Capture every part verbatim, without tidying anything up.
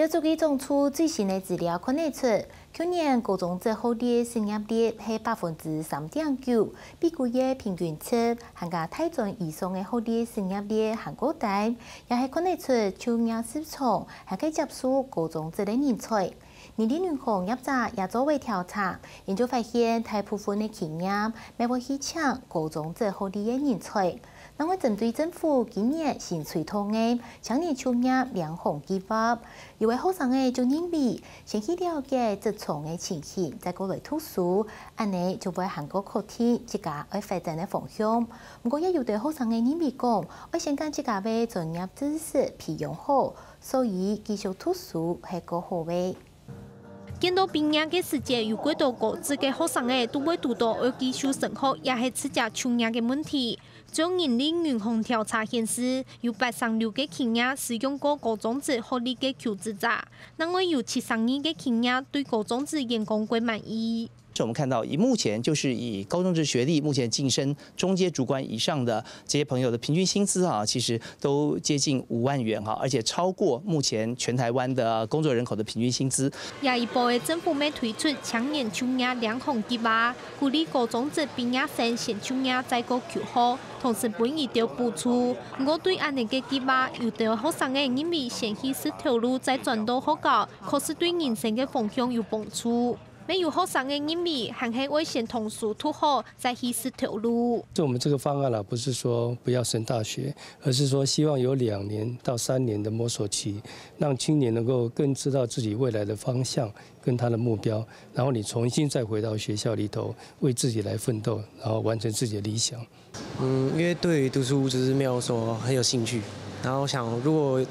教育局總處最新个資料看得出，舊年高中職學歷失業率係百分之三點九，比舊个平均值還較大專以上个學歷失業率還較低，也係看得出就業市場還較接受高中職个人才。人力銀行業者也做過調查，研究發現，大部分个企業乜會去請高中職學歷个人才。另外，針對政府今年新推動个青年就業兩項計畫，有个學生仔就認為，先去了解職場个情形，再過來讀書，恁仔就會還較確定自家愛發展个方向。毋過，也有个學生仔認為講，愛先將自家个專業知識培養好，所以繼續讀書係較好个。 見到畢業个時節有幾多高職个學生仔都會堵到愛繼續升學，也係直接就業个問題。中央人力銀行調查顯示，有八成六个企業使用過高中職學歷个求職者，另外有七成二个企業對高中職員工較滿意。我們看到，以目前就是以高中職學歷目前晉升中階主管以上的這些朋友的平均薪資啊，其實都接近五萬元哈，而且超過目前全台灣的工作人口的平均薪資。下一步个政府乜推出青年就業兩項計畫，鼓勵高中職畢業生先就業再過求學，同時分佢兜補助。毋過對恁仔个計畫，有兜學生仔認為先去食頭路再轉到學校，確實對人生个方向有幫助。 乜有學生仔認為，還係愛先讀書讀好，再去食頭路。就我們這個方案啦，不是說不要升大學，而是說希望有兩年到三年的摸索期，讓青年能夠更知道自己未來的方向跟他的目標，然後你重新再回到學校裡頭，為自己來奮鬥，然後完成自己的理想。 嗯，因為對於讀書就是沒有說很有興趣，然後想如果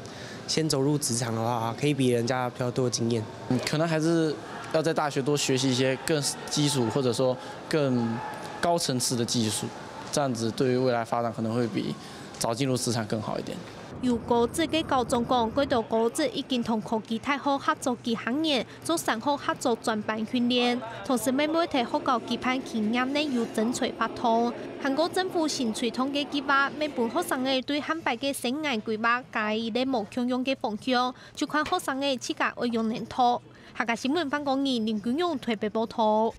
先走入職場的話，可以比人家比較多經驗。嗯，可能還是要在大學多學習一些更基礎或者說更高層次的技術，這樣子對於未來發展可能會比早進入職場更好一點。有高職个校長講，幾多高職已經同科技大學合作幾下年， 做產學合作專班訓練，同時乜會在學校舉辦企業內有徵才活動。還過政府新推動个計畫，乜分學生仔對下擺个生涯規劃加一個無共樣个方向，就看學生仔自家愛仰般讀。客家新聞范光義、林君勇台北報導。